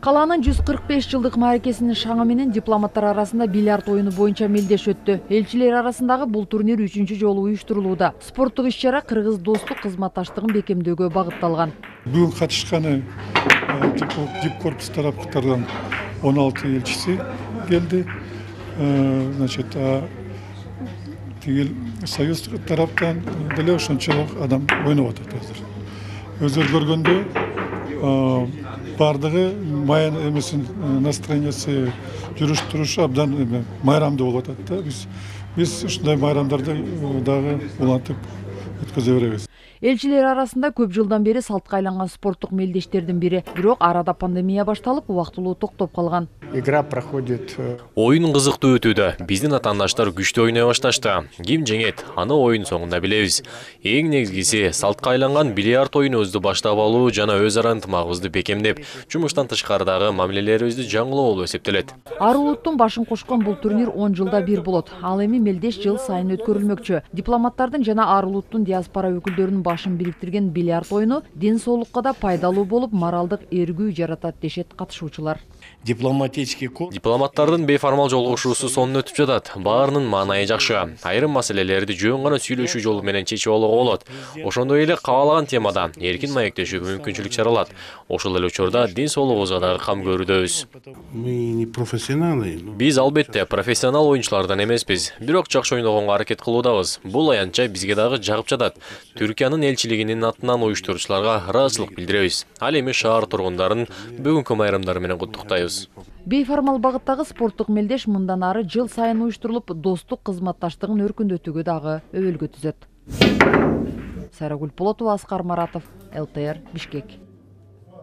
Калаанын 145 жылдык мааракесинин шаңы менен дипломаттар арасында бильярд оюну боюнча мелдеш өттү. Элчилер арасындагы бул турнир 3-чү жолу уюштурулууда. Спорттук иш-чара кыргыз достук кызматташтыгын бекемдөөгө багытталган. Бүгүн катышканы дипкорпус тараптардан 16 элчиси келди. Тигил союз тараптан деле ошончолук адам ойноп атат азыр. Өздөрү көргөндө бардыгы майын эмесин настроениясы жүрүш турушу абдан майрамдуу болуп атат да. Биз ушундай майрамдарды дагы улантып өткөзө беребиз. Элчилер арасында көп жылдан бери салтка айланган спорттук мелдештердин бири. Бирок арада пандемия башталып, убактылуу токтоп калган. Игра проходит. Оюн кызыктуу өтүүдө. Биздин атаандаштар күчтүү ойной башташты. Ким жеңет, аны оюн соңунда билебиз. Эң негизгиси салтка айланган бильярд оюнубузду баштап алуу жана өз ара ынтымагыбызды бекемдеп, жумуштан тышкарыдагы мамилелерибизди жаңылоо болуп эсептелет. Ар улуттун башын кошкон бул турнир 10 жылда бир болот. Ал эми мелдеш жыл сайын өткөрүлмөкчү. Дипломаттардын жана ар улуттун диаспора өкүлдөрүнүн башын бириктирген бильярд оюну ден соолукка да пайдалуу болуп, моралдык эргүү жаратат дешет катышуучулар. Дипломаттардын бейформал жолугушуусу сонун өтүп жатат. Баарынын маанайы жакшы. Айрым маселелерди жөн гана сүйлөшүү жолу менен чечип алууга болот. Ошондой эле каалаган темада эркин маектешүүгө мүмкүнчүлүк жаралат. Ошол эле учурда ден соолугубузга дагы кам көрүүдөбүз. Биз албетте профессионал оюнчулардан эмеспиз, бирок жакшы ойногонго аракет кылуудабыз. Бул аянтча бизге дагы жагып жатат. Түркиянын элчилигинин атынан уюштуруучуларга ыраазычылык билдиребиз. Ал эми шаар тургундарын бүгүнкү майрамдары менен куттуктайбыз. Бейформал багыттагы спорттук мелдеш мындан ары жыл сайын уюштурулуп, достук кызматташтыгын өркүндөтүүгө дагы өбөлгө түзөт. Сайрагүл Полотова, Аскар Маратов, ЛТР, Бишкек.